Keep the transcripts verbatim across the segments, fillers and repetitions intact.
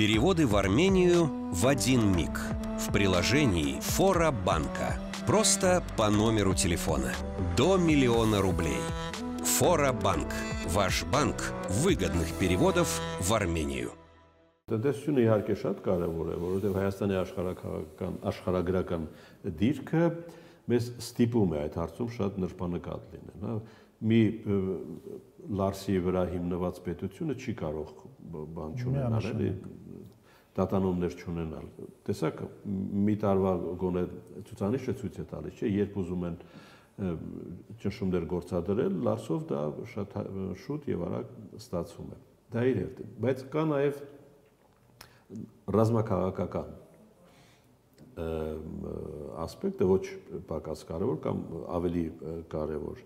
Переводы в Армению в один миг. В приложении Фора Банка. Просто по номеру телефона. До миллиона рублей. Фора Банк. Ваш банк выгодных переводов в Армению. Տնտեսությունը իհարկե շատ կարևոր է, որովհետև Հայաստանի աշխարհագրական աշխարհագրական դիրքը մեզ ստիպում է այդ հարցում շատ նրբանկատ լինել։ Մի Լարսի վրա հիմնված պետությունը չի կարող բան չունենալ, էլի տատանումներ չունենալ։ Տեսակ մի տարվա գոնե ցուցանիշը ցույց է տալիս, չէ, երբ ուզում են ճնշումներ գործադրել, Լարսով դա շատ շուտ եւ արագ ստացվում է։ Դա իր հետ, բայց կա նաեւ ռազմաքաղաքական ասպեկտը ոչ պակաս կարևոր կամ ավելի կարևոր։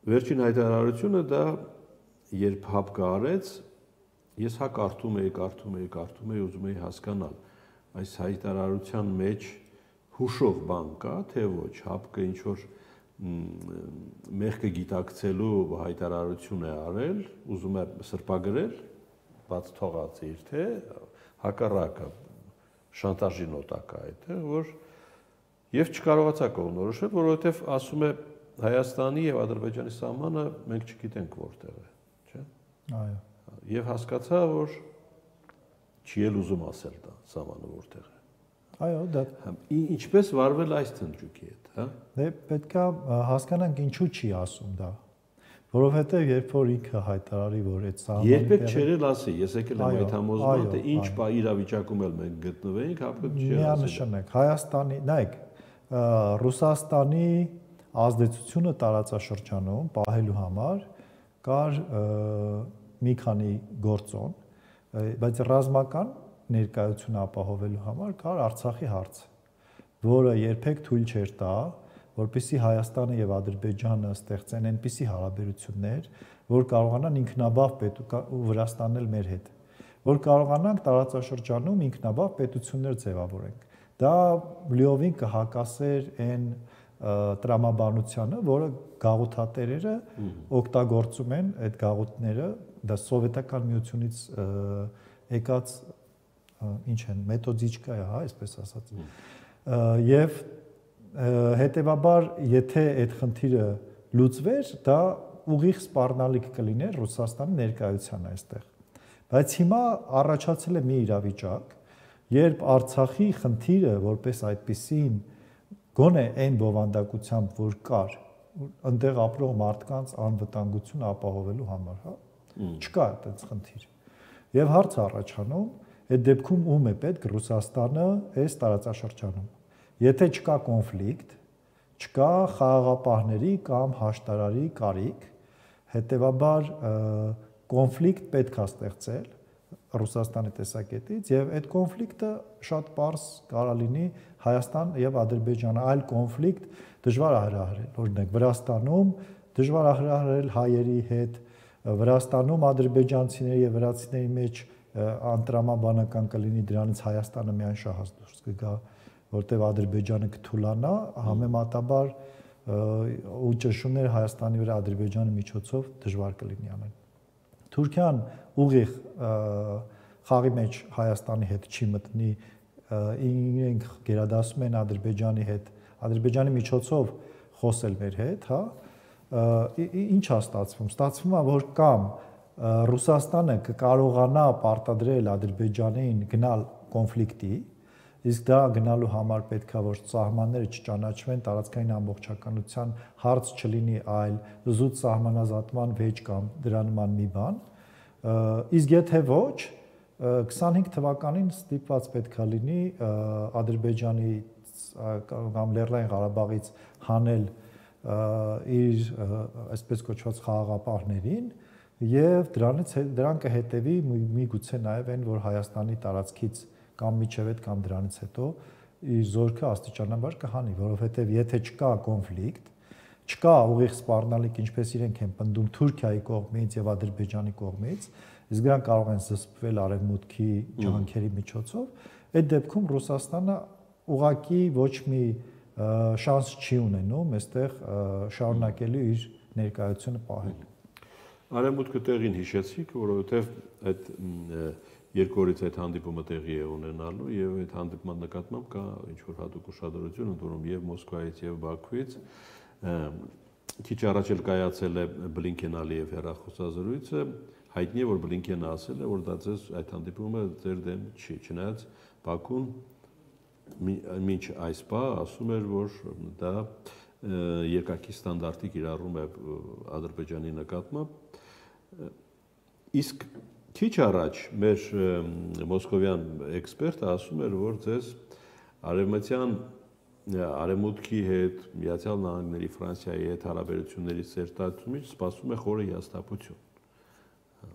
Վերջին հայտարարությունը դա երբ հապկը արեց, ես հա կարդում էի, կարդում էի, կարդում էի, ուզում էի հասկանալ այս հայտարարության մեջ հուշող բան կա, թե ոչ, հապկը ինչ որ մեղքը գիտակցելու հայտարարություն է արել, ուզում է սրբագրել, բաց թողած իր թե հակառակը շանտաժի նոտա կա այդտեղ, որ եւ չկարողացա կողմնորոշել, որովհետեւ ասում է Հայաստանի եւ Ադրբեջանի սահմանը մենք չգիտենք որտեղ է, չէ՞։ Այո։ Եվ հասկացա, որ չի էլ ուզում ասել դա սահմանը որտեղ է։ Այո, դա ինչպես վարվել այս թնջուկի հետ, հա։ Դե պետքա հասկանանք ինչու չի ասում դա։ Որովհետև երբ որ ինքը հայտարարի, որ այդ սահմանը երբեք չերել ասի, ես եկել եմ այդ համոզման, թե ինչ իրավիճակում էլ մենք գտնվեինք, հապկը չեր ասել։ Միանշանակ Հայաստանի, նայեք, Ռուսաստանի ազդեցությունը տարածաշրջանում պահելու համար կար մի քանի գործոն, բայց ռազմական ներկայություն ապահովելու համար կար Արցախի հարցը, որը երբեք թույլ չէր տա, որպեսզի Հայաստանը եւ Ադրբեջանը ստեղծեն այնպիսի հարաբերություններ, որ կարողանան ինքնաբավ պետություն Վրաստանն էլ մեր հետ, որ կարողանանք տարածաշրջանում ինքնաբավ պետություններ ձևավորենք։ Դա լիովին կհակասեր այն տրամաբանությանը, որը գաղութատերերը օգտագործում են այդ գաղութները, դա սովետական միությունից եկած ինչ են, մեթոդիչկա է, հա, այսպես ասած։ Եվ հետեւաբար, եթե այդ խնդիրը լուծվեր, դա ուղիղ սպառնալիք կլիներ Ռուսաստանի ներկայության այստեղ։ Բայց հիմա առաջացել է մի իրավիճակ, երբ Արցախի խնդիրը որպես այդպիսին գոնե այն բովանդակությամբ, որ կար, այնտեղ ապրող մարդկանց անվտանգությունը ապահովելու համար, հա, չկա այդպես խնդիր։ Եվ հարց առաջանում, այդ դեպքում ում է պետք Ռուսաստանը այս տարածաշրջանում։ Եթե չկա կոնֆլիկտ, չկա խաղաղապահների կամ հաշտարարի կարիք, հետեւաբար կոնֆլիկտ պետք է ստեղծել Ռուսաստանի տեսակետից եւ այդ կոնֆլիկտը շատ པարզ կարա լինի Հայաստան եւ Ադրբեջանը, այլ կոնֆլիկտ դժվար է հրահրել, օրինակ Վրաստանում դժվար է հրահրել հայերի հետ, Վրաստանում ադրբեջանցիների եւ վրացիների մեջ անտրամաբանական կլինի, դրանից Հայաստանը միայն շահած դուրս կգա, որտեղ Ադրբեջանը կթուլանա, համեմատաբար ու ճնշումներ Հայաստանի վրա Ադրբեջանի միջոցով դժվար կլինի անել։ Թուրքիան ուղիղ խաղի մեջ Հայաստանի հետ չի մտնի, իրենք գերադասում են Ադրբեջանի հետ, Ադրբեջանի միջոցով խոսել մեր հետ, հա, ինչ է ստացվում։ Ստացվում է, որ կամ Ռուսաստանը կկարողանա պարտադրել Ադրբեջանին գնալ կոնֆլիկտի, իսկ դա գնալու համար պետք է որ սահմանները չճանաչվեն, տարածքային ամբողջականության հարց չլինի, այլ զուտ սահմանազատման վեճ կամ դրա նման մի բան։ Իսկ եթե ոչ, քսանհինգ թվականին ստիպված պետք է լինի Ադրբեջանի կամ Լեռնային Ղարաբաղից հանել իր այսպես կոչված խաղաղապահներին եւ դրանից դրան կհետեւի միգուցե նաեւ այն, որ Հայաստանի տարածքից կամ միջև այդ կամ դրանից հետո իր զորքը աստիճանաբար կհանի, որովհետեւ եթե չկա կոնֆլիկտ, չկա ուղիղ սպառնալիք, ինչպես իրենք են պնդում Թուրքիայի կողմից եւ Ադրբեջանի կողմից, իսկ դրանք կարող են զսպվել արևմուտքի ջանքերի միջոցով, այդ դեպքում Ռուսաստանը ուղղակի ոչ մի շանս չի ունենում այստեղ շարունակելու իր ներկայությունը պահել։ Արևմուտքը տեղին հիշեցիք, որովհետև այդ երկու օրից այդ հանդիպումը տեղի է ունենալու եւ այդ հանդիպման նկատմամբ կա ինչ որ հատուկ ուշադրություն ընդունում եւ Մոսկվայից եւ Բաքվից քիչ առաջ էլ կայացել է Բլինքեն-Ալիև հեռախոսազրույցը հայտնի է որ Բլինքենը ասել է որ դա ձեզ այդ հանդիպումը ձեր դեմ չի չնայած Բաքուն մինչ այս բա ասում էր որ դա երկակի ստանդարտի կիրառում է Ադրբեջանի նկատմամբ իսկ քիչ առաջ մեր մոսկովյան էքսպերտը ասում էր որ ձեզ արևմտյան Արևմուտքի հետ Միացյալ Նահանգների Ֆրանսիայի հետ հարաբերությունների սերտացումից սպասում է խորը հիասթափություն։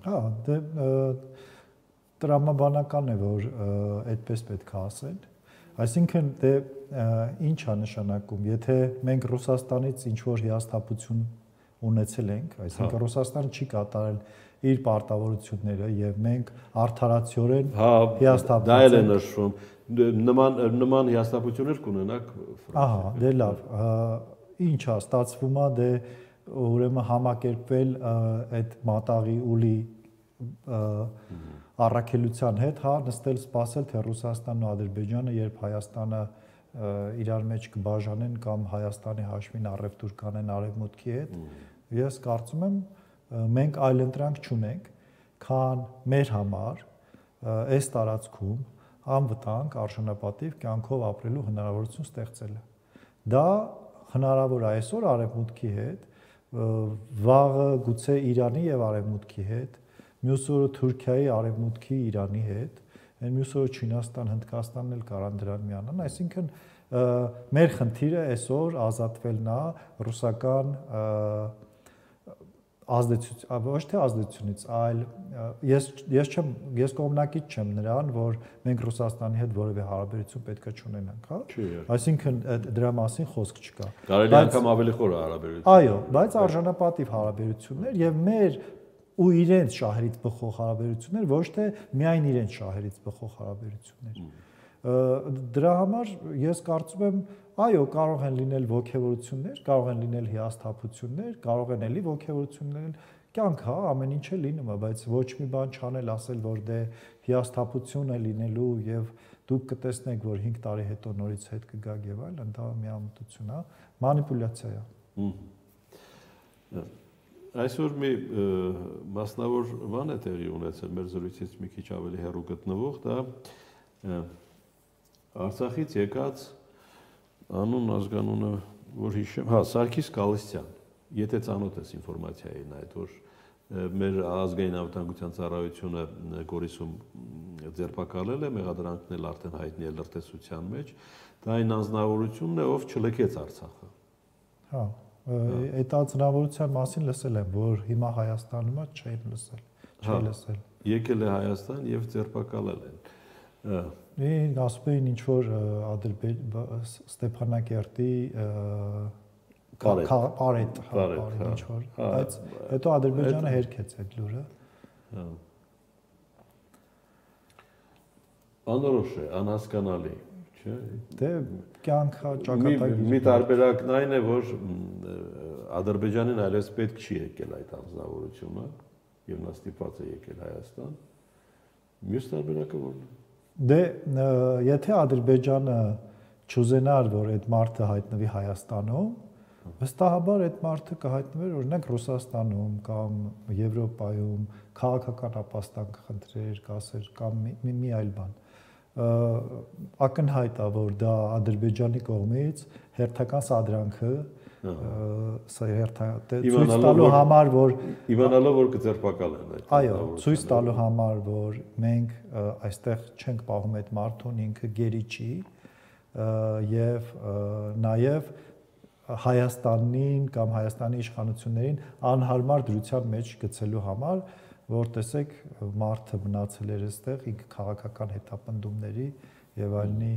Հա, դե տրամաբանական է որ այդպես պետք է ասել։ Այսինքն դե ինչ է նշանակում, եթե մենք Ռուսաստանից ինչ որ հիասթափություն ունեցել ենք, այսինքն Ռուսաստանը չի կատարել իր պարտավորությունները եւ մենք արդարացիորեն հիասթափվել ենք։ Դա էլ է նշվում։ Նման նման հիասթափություններ կունենաք Ֆրանսիայում։ Ահա, դե լավ, ինչ է ստացվում է դե ուրեմն համակերպվել այդ մատաղի ուլի առաքելության հետ, հա, նստել սպասել թե Ռուսաստանն ու Ադրբեջանը երբ Հայաստանը իրար մեջ կբաժանեն կամ Հայաստանի հաշվին առևտուր կանեն Արևմուտքի հետ, ես կարծում եմ մենք այլ ընտրանք չունենք, քան մեր համար այս տարածքում անվտանգ արժանապատիվ կյանքով ապրելու հնարավորություն ստեղծելը։ Դա հնարավոր է այսօր Արևմուտքի հետ, վաղը գուցե Իրանի եւ Արևմուտքի հետ, մյուս օրը Թուրքիայի, Արևմուտքի, Իրանի հետ, այն մյուս օրը Չինաստան, Հնդկաստանն էլ կարան դրան միանան, այսինքն մեր խնդիրը այսօր ազատվելն է ռուսական ազդեցություն, ոչ թե ազդեցությունից, այլ ես ես չեմ ես կողմնակից չեմ նրան, որ մենք Ռուսաստանի հետ որևէ հարաբերություն պետք է չունենանք, հա։ Այսինքն դրա մասին խոսք չկա։ Կարելի անգամ ավելի խոր հարաբերություն։ Այո, բայց արժանապատիվ հարաբերություններ եւ մեր ու իրենց շահերից բխող հարաբերություններ, ոչ թե միայն իրենց շահերից բխող հարաբերություններ։ Դրա համար ես կարծում եմ, այո, կարող են լինել ոգևորություններ, կարող են լինել հիասթափություններ, կարող են էլի ոգևորություններ, կյանք, հա, ամեն ինչ է լինում, բայց ոչ մի բան չանել, ասել, որ դե հիասթափություն է լինելու եւ դուք կտեսնեք, որ հինգ տարի հետո նորից հետ կգաք եւ այլն, դա միամտություն է, մանիպուլյացիա է։ Այսօր մի մասնավոր բան է տեղի ունեցել մեր զրույցից մի քիչ ավելի հեռու գտնվող, դա Արցախից եկած անուն ազգանունը որ հիշեմ, հա, Սարգիս Գալստյան, եթե ծանոթ ես ինֆորմացիային այդ, որ մեր ազգային անվտանգության ծառայությունը Գորիսում ձերբակալել է, մեղադրանքն էլ արդեն հայտնի է լրտեսության մեջ, դա այն անձնավորությունն է, ով չլքեց Արցախը։ Հա, այդ անձնավորության մասին լսել եմ, որ հիմա Հայաստանում է, չեմ լսել, չի լսել։ Եկել է Հայաստան եւ ձերբակալել են։ Ինչ ասում էին ինչ որ Ստեփանակերտի Պարետ, ինչ որ, բայց հետո Ադրբեջանը հերքեց այդ լուրը։ Անորոշ է, անհասկանալի, չէ՞։ Դե կյանքը ճակատագիր։ Մի տարբերակն այն է, որ Ադրբեջանին այլևս պետք չի եկել այդ անձնավորությունը եւ նա ստիպված է եկել Հայաստան։ Մյուս տարբերակը ո՞րն է։ Դե եթե Ադրբեջանը չուզենար, որ այդ մարդը հայտնվի Հայաստանում, վստահաբար այդ մարդը կհայտնվեր օրինակ Ռուսաստանում կամ Եվրոպայում, քաղաքական ապաստան կխնդրեր, կասեր կամ մի, մի այլ բան։ Ակնհայտ է, որ դա Ադրբեջանի կողմից հերթական սադրանքը սա ցույց տալու համար, որ իմանալով որ կձերբակալեն այդ։ Այո, ցույց տալու համար, որ մենք այստեղ չենք պահում այդ մարդուն, ինքը գերի չի եւ նաեւ Հայաստանին կամ Հայաստանի իշխանություններին անհարմար դրության մեջ գցելու համար, որ տեսեք մարդը մնացել էր այստեղ, ինքը քաղաքական հետապնդումների եւ այլնի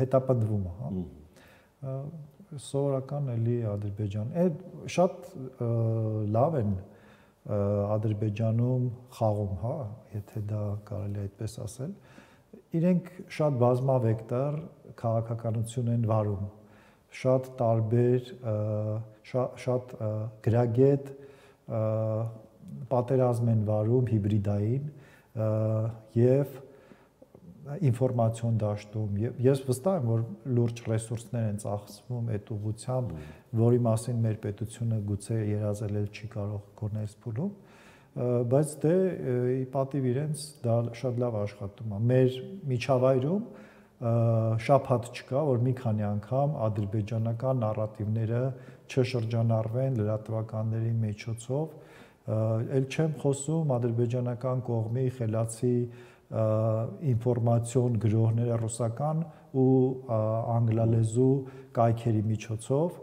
հետապնդվում է, հա։ Սովորական էլի Ադրբեջան։ Այդ շատ լավ են Ադրբեջանում խաղում, հա, եթե դա կարելի է այդպես ասել։ Իրենք շատ բազմավեկտոր քաղաքականություն են վարում, շատ տարբեր, շատ գրագետ պատերազմ են վարում հիբրիդային եւ ինֆորմացիոն դաշտում եւ ես վստահ եմ որ լուրջ ռեսուրսներ են ծախսվում այդ ուղղությամբ, որի մասին մեր պետությունը գուցե երազել չի կարող գոնես փուլում, բայց դե ի պատիվ իրենց դա շատ լավ աշխատում է։ Մեր միջավայրում շփաթ չկա, որ մի քանի անգամ ադրբեջանական նարատիվները չշրջանառվեն լրատվականների միջոցով, ել չեմ խոսում ադրբեջանական կողմի խելացի ինֆորմացիոն գրողները ռուսական ու անգլալեզու կայքերի միջոցով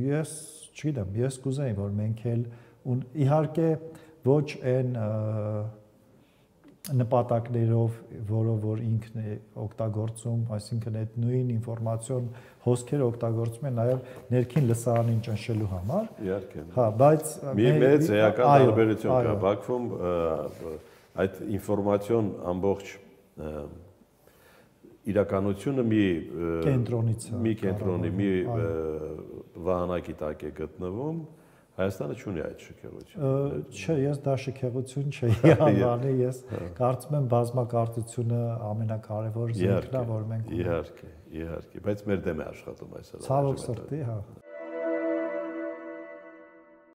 ես չգիտեմ, ես կուզեի որ մենք էլ իհարկե ոչ այն նպատակներով, որով որ ինքն է օգտագործում, այսինքն այդ նույն ինֆորմացիոն հոսքերը օգտագործում են նաև ներքին լսարանին ճնշելու համար։ Իհարկե։ Հա, բայց մի մեծ էական տարբերություն կա Բաքվում այդ ինֆորմացիոն ամբողջ իրականությունը մի կենտրոնից մի կենտրոնի մի վահանակի տակ է գտնվում։ Հայաստանը չունի այդ շքեղությունը։ Չէ, ես դա շքեղություն չէի անվանի, ես կարծում եմ բազմակարծությունը ամենակարևոր զենքն է, որ մենք Իհարկե, իհարկե, բայց մեր դեմ է աշխատում այս հրաժարականը։ Ցավոք սրտի, հա։